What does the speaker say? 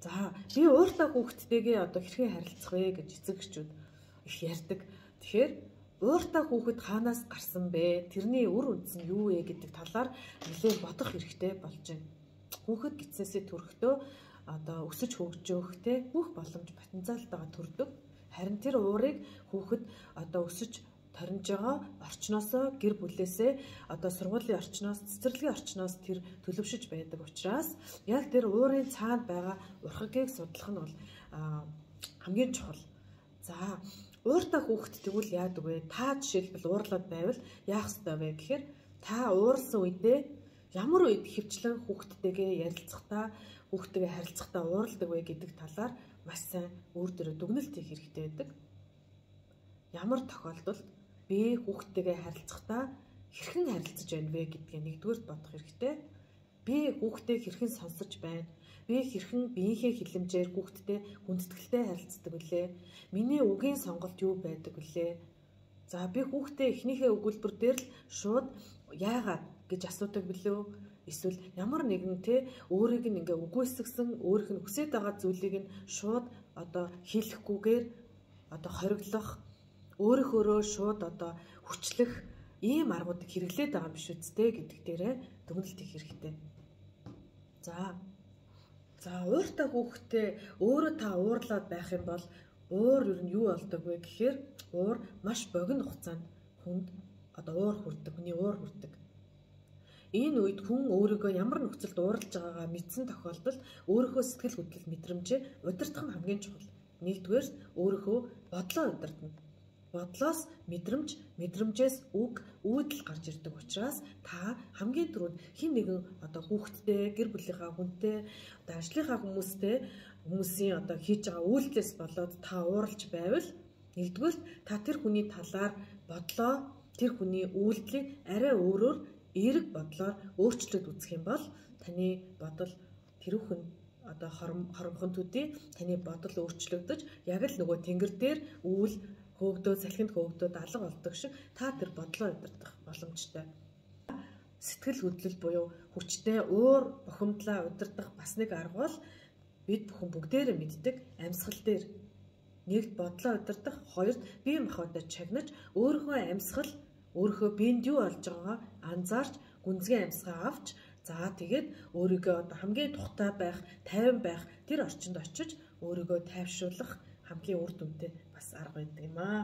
За би ууртай хүүхдтэйгээ одоо хэрхэн харилцах вэ гэж эцэг эхчүүд их ярьдаг. Тэгэхээр ууртай хүүхэд хаанаас гарсан бэ? Тэрний үр үндэс нь юу вэ гэдэг талаар нэлээд бодох хэрэгтэй болж байна. Хүүхэд гисээсээ төрөхдөө одоо өсөж хөгжөөхтэй бүх боломж потенциалтайгаа төрдөг. Харин тэр уурыг хүүхэд одоо өсөж торинж байгаа орчноосоо гэр бүлээсээ одоо сургуулийн орчноос цэцэрлэгийн орчноос тэр төлөвшөж байдаг учраас яг тэр уурын цаанд байгаа урхагийг судлах нь бол хамгийн чухал. За ууртай хүүхэд тэгвэл яадаг вэ? Та жишээлбэл уурлаад байвал яах ёстой вэ гэхээр та уурсан үедээ ямар үед хөвчлэн хүүхдтэйгээ ярилцахдаа хүүхдтэйгээ харилцахдаа уурладаг вэ гэдэг талаар маш сайн өөр дөрөө дүгнэлт хийх хэрэгтэй байдаг. Ямар тохиолдолд би хүүхдтэйгээ харилцахдаа хэрхэн харилцаж байна вэ гэдгийг нэгдүгээр бодох хэрэгтэй. Би хүүхдтэй хэрхэн сонсож байна? Би хэрхэн биеийнхээ хилэмжээр хүүхдтэй хүндэтгэлтэй харилцдаг вүлээ? Миний үгийн сонголт юу байдаг вүлээ? За би хүүхдтэй эхнийхээ өгүүлбэр дээр л шууд яагаад гэж асуудаг билүү? Эсвэл ямар нэгэн өөрийг нь ингээ үгүйсгсэн, өөрийнх нь хүсэж байгаа зүйлийг нь шууд одоо хийлэхгүйгээр одоо хориглох, өөрийнхөөрөө шууд одоо хүчлэх ийм аргуудыг хэрэглээд байгаа юм биш үсттэй гэдэг дээрээ дүгнэлт хийх хэрэгтэй. За ууртай хүүхдтэй өөрөө та уурлаад байх юм бол уур юу нь юу болдог вэ гэхээр уур маш богино хугацаанд хүнд одоо уур хүрдэг, хүний уур хүрдэг. Энэ үед хүн өөрийгөө ямар нөхцөлд уурлж байгаагаа мэдсэн тохиолдолд өөрийнхөө сэтгэл хөдлөл мэдрэмжээ удирдах нь хамгийн чухал. Нэгдүгээр өөрийнхөө бодлоо удирдана. Бодлоос мэдрэмж, мэдрэмжээс үг, үйлдэл гарч ирдэг учраас та хамгийн түрүүнд хэн нэгэн одоо хүүхэдтэй, гэр бүлийнхаа хүнтэй, одоо ажлынхаа хүмүүсийн одоо хийж байгаа үйлдэлээс болоод та уурлж байвал нэгдүгээр та тэр хүний талаар бодлоо, тэр хүний үйлдэлийг арай өөрөөр эерэг бодлоор өөрчлөлт үзэх юм бол таны бодол тэрүүхэн одоо хоромхон төдий таны бодол өөрчлөгдөж яг л нөгөө тэнгэр дээр үйл хөөгдөө салхинд хөөгдөө алга болдог шиг та тэр бодлоо удирдах боломжтой. Сэтгэл хөдлөл буюу хүчтэй уур бухимдлаа удирдах бас нэг арга бол бид бүхэн бүгдээрээ мэддэг амьсгал дээр нэгд бодлоо удирдах, хоёрт бие махбодоо чагнаж өөрийнхөө амьсгал өөрийнхөө биед юу болж байгаагаа анзаарч гүнзгий амьсгаа авч за тэгээд өөрийгөө одоо хамгийн тухтай байх, тайван байх тэр орчинд очиж өөрийгөө тайвшруулах хамгийн үр дүнтэй бас арга байдаг юм аа.